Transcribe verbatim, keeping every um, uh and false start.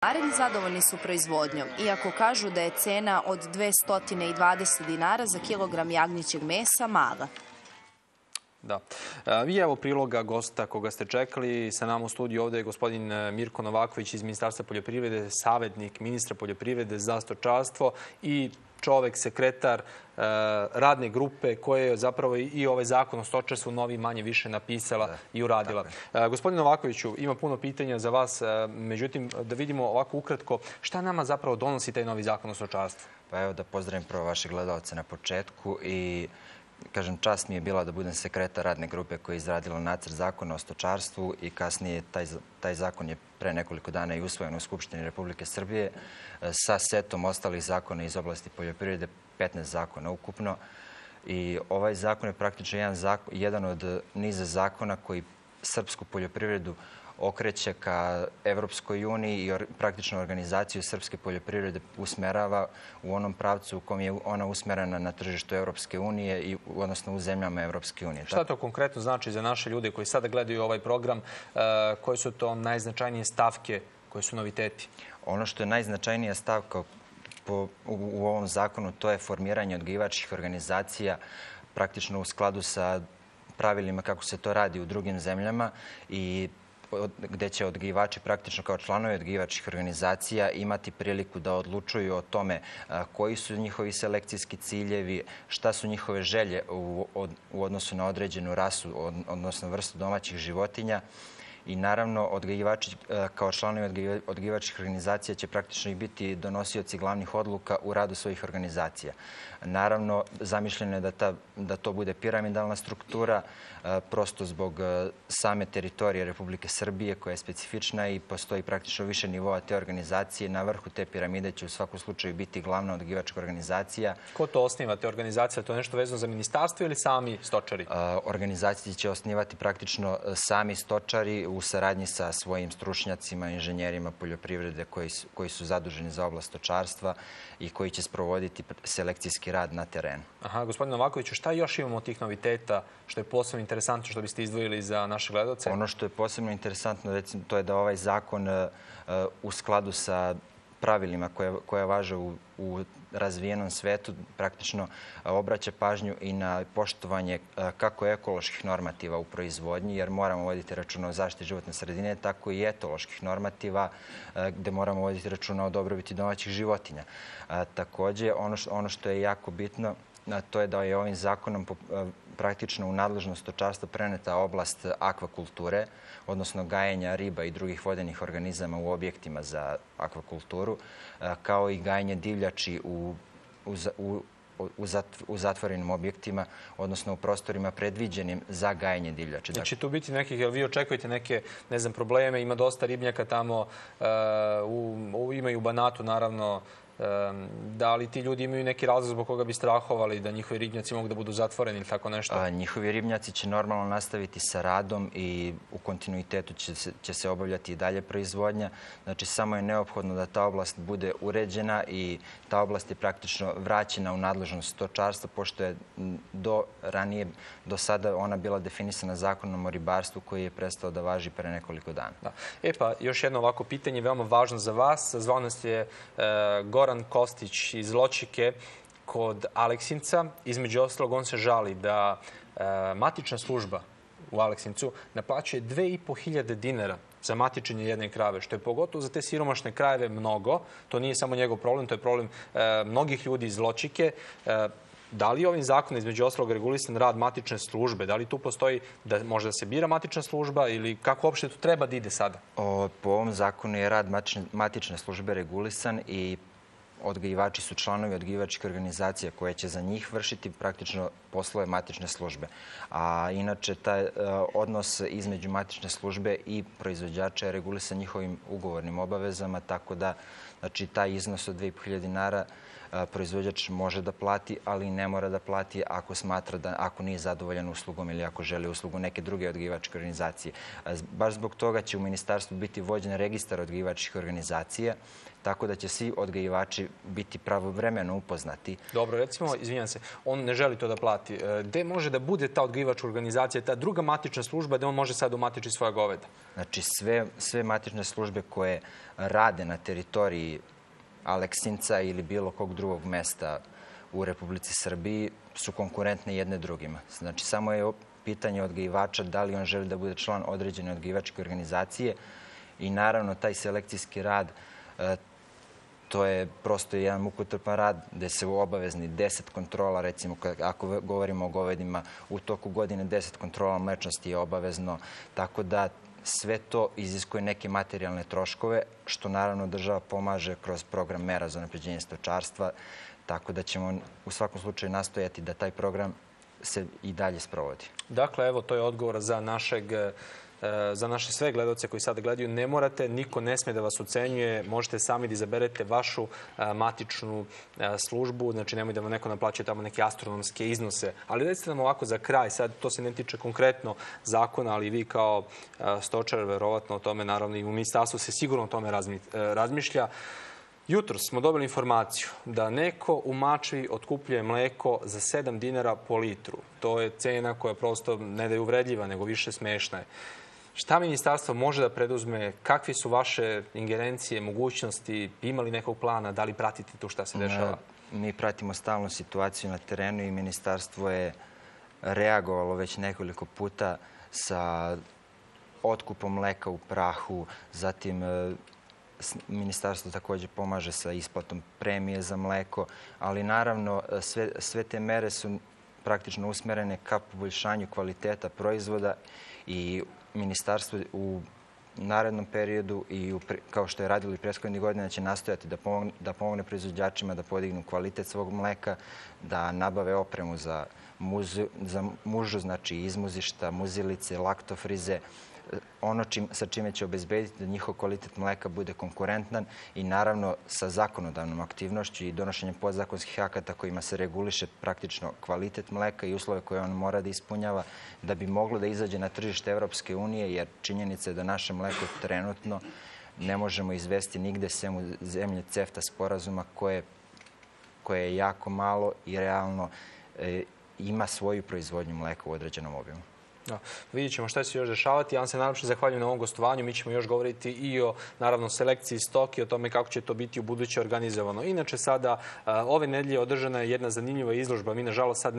Naredni zadovoljni su proizvodnjom, iako kažu da je cena od dvjesto dvadeset dinara za kilogram jagnjećeg mesa mala. Da. Vi evo priloga gosta koga ste čekali. Sa nama u studiju ovdje je gospodin Mirko Novaković iz Ministarstva poljoprivrede, savjetnik ministra poljoprivrede za stočarstvo i čovek, sekretar radne grupe koje je zapravo i ovaj zakon o stočarstvu novi manje više napisala i uradila. Gospodin Novakoviću, ima puno pitanja za vas, međutim da vidimo ovako ukratko šta nama zapravo donosi taj novi zakon o stočarstvu. Pa evo da pozdravim prvo vaše gledalce na početku i kažem, čast mi je bila da budem sekretar radne grupe koja je izradila nacrt zakona o stočarstvu i kasnije taj, taj zakon je pre nekoliko dana i usvojen u Skupštini Republike Srbije sa setom ostalih zakona iz oblasti poljoprivrede, petnaest zakona ukupno. I ovaj zakon je praktično jedan, zakon, jedan od niza zakona koji srpsku poljoprivredu okreće ka Evropskoj uniji i praktično organizaciju srpske poljoprivrede usmerava u onom pravcu u kom je ona usmerena na tržištu Evropske unije i odnosno u zemljama Evropske unije. Šta to konkretno znači za naše ljude koji sada gledaju ovaj program? Koje su to najznačajnije stavke, koje su noviteti? Ono što je najznačajnija stavka po, u, u ovom zakonu, to je formiranje odgajivačkih organizacija praktično u skladu sa pravilima kako se to radi u drugim zemljama i gdje će odgajivači praktično kao članovi odgajivačkih organizacija imati priliku da odlučuju o tome koji su njihovi selekcijski ciljevi, šta su njihove želje u, u odnosu na određenu rasu, odnosno vrstu domaćih životinja. I naravno, odgajivači kao članovi odgajivačkih organizacija će praktično i biti donosioci glavnih odluka u radu svojih organizacija. Naravno, zamišljeno je da, ta, da to bude piramidalna struktura, prosto zbog same teritorije Republike Srbije koja je specifična i postoji praktično više nivoa te organizacije. Na vrhu te piramide će u svakom slučaju biti glavna odgajivačka organizacija. Ko to osniva te organizacije? To je nešto vezano za ministarstvo ili sami stočari? Organizacije će osnivati praktično sami stočari u saradnji sa svojim stručnjacima, inženjerima poljoprivrede koji su, koji su zaduženi za oblast stočarstva i koji će sprovoditi selekcijski rad na terenu. Aha, gospodine Novakoviću, šta još imamo od tih noviteta što je posebno interesantno što biste izdvojili za naše gledalce? Ono što je posebno interesantno, recimo, to je da ovaj zakon u skladu sa pravilima koje, koje važe u, u razvijenom svetu praktično obraća pažnju i na poštovanje kako ekoloških normativa u proizvodnji, jer moramo voditi računa o zaštiti životne sredine, tako i etoloških normativa gdje moramo voditi računa o dobrobiti domaćih životinja. Također, ono što, ono što je jako bitno, to je da je ovim zakonom praktično u nadležnost stočarstva preneta oblast akvakulture, odnosno gajenja riba i drugih vodenih organizama u objektima za akvakulturu, kao i gajenje divljači u, u, u, u zatvorenim objektima, odnosno u prostorima predviđenim za gajenje divljači. Znači tu biti nekih, jel vi očekujete neke, ne znam, probleme, ima dosta ribnjaka tamo, uh, u, u, ima i u Banatu naravno. Da li ti ljudi imaju neki razlog zbog koga bi strahovali da njihovi ribnjaci mogu da budu zatvoreni ili tako nešto? A, njihovi ribnjaci će normalno nastaviti sa radom i u kontinuitetu će se, će se obavljati i dalje proizvodnja. Znači, samo je neophodno da ta oblast bude uređena i ta oblast je praktično vraćena u nadležnost stočarstva, pošto je do ranije, do sada ona bila definisana zakonom o ribarstvu koji je prestao da važi pre nekoliko dana. Da. E pa, još jedno ovako pitanje, veoma važno za vas. Zvao nas je uh, Goran Kostić iz Ločike kod Aleksinca. Između ostalog, on se žali da e, matična služba u Aleksincu naplaćuje dve i po hiljade dinara za matičenje jedne krave, što je pogotovo za te siromašne krajeve mnogo. To nije samo njegov problem, to je problem e, mnogih ljudi iz Ločike. E, Da li je ovim zakonom između ostalog regulisan rad matične službe? Da li tu postoji da može da se bira matična služba ili kako uopšte tu treba da ide sada? O, po ovom zakonu je rad matične, matične službe regulisan i odgajivači su članovi odgajivačke organizacije koje će za njih vršiti praktično poslove matične službe. A inače, taj odnos između matične službe i proizvođača je regulisan njihovim ugovornim obavezama, tako da znači, taj iznos od dve i po hiljade dinara proizvođač može da plati, ali ne mora da plati ako smatra da ako nije zadovoljan uslugom ili ako želi uslugu neke druge odgajivačke organizacije. Baš zbog toga će u ministarstvu biti vođen registar odgajivačkih organizacija tako da će svi odgajivači biti pravovremeno upoznati. Dobro, recimo, izvinjam se, on ne želi to da plati. Gde može da bude ta odgajivačka organizacija, ta druga matična služba, gde on može sad umatičiti svoja goveda? Znači, sve, sve matične službe koje rade na teritoriji Aleksinca ili bilo kog drugog mesta u Republici Srbiji su konkurentne jedne drugima. Znači, samo je pitanje odgajivača da li on želi da bude član određene odgajivačke organizacije i naravno taj selekcijski rad, to je prosto jedan mukotrpan rad gde se obavezni deset kontrola, recimo ako govorimo o govedima, u toku godine deset kontrola mlečnosti je obavezno, tako da sve to iziskuje neke materijalne troškove, što naravno država pomaže kroz program mera za unapređenje stočarstva, tako da ćemo u svakom slučaju nastojati da taj program se i dalje sprovodi. Dakle, evo, to je odgovor za našeg za naše sve gledalce koji sada gledaju. Ne morate, niko ne sme da vas ocenjuje. Možete sami da izaberete vašu matičnu službu. Znači, nemoj da vam neko naplaćuje tamo neke astronomske iznose. Ali recite nam ovako za kraj. Sad, to se ne tiče konkretno zakona, ali vi kao stočar, verovatno o tome, naravno i u ministarstvu se sigurno o tome razmišlja. Jutros smo dobili informaciju da neko u Mačvi otkupljuje mleko za sedam dinara po litru. To je cena koja prosto ne da je uvredljiva, nego više smešna je. Šta ministarstvo može da preduzme? Kakve su vaše ingerencije, mogućnosti? Ima li nekog plana? Da li pratite to šta se dešava? Mi pratimo stalnu situaciju na terenu i ministarstvo je reagovalo već nekoliko puta sa otkupom mleka u prahu, zatim ministarstvo također pomaže sa isplatom premije za mleko, ali naravno sve, sve te mere su praktično usmerene ka poboljšanju kvaliteta proizvoda i ministarstvo u narednom periodu i u, kao što je radilo i prethodnih godina će nastojati da pomogne, da pomogne proizvođačima da podignu kvalitet svog mleka, da nabave opremu za, muzu, za mužu, znači izmuzišta, muzilice, laktofrize, ono čim, sa čime će obezbediti da njihov kvalitet mleka bude konkurentan i naravno sa zakonodavnom aktivnošću i donošenjem podzakonskih akata kojima se reguliše praktično kvalitet mleka i uslove koje on mora da ispunjava da bi moglo da izađe na tržište Evropske unije, jer činjenica je da naše mleko trenutno ne možemo izvesti nigde sem u zemlje CEFTA sporazuma koje, koje je jako malo i realno e, ima svoju proizvodnju mleka u određenom obimu. Da. Vidjet ćemo šta će se još dešavati. Ja vam se najlepše zahvaljujem na ovom gostovanju. Mi ćemo još govoriti i o, naravno, selekciji stoke, o tome kako će to biti u buduće organizovano. Inače, sada, ove nedelje održana je jedna zanimljiva izložba. Mi, nažalost, sad ne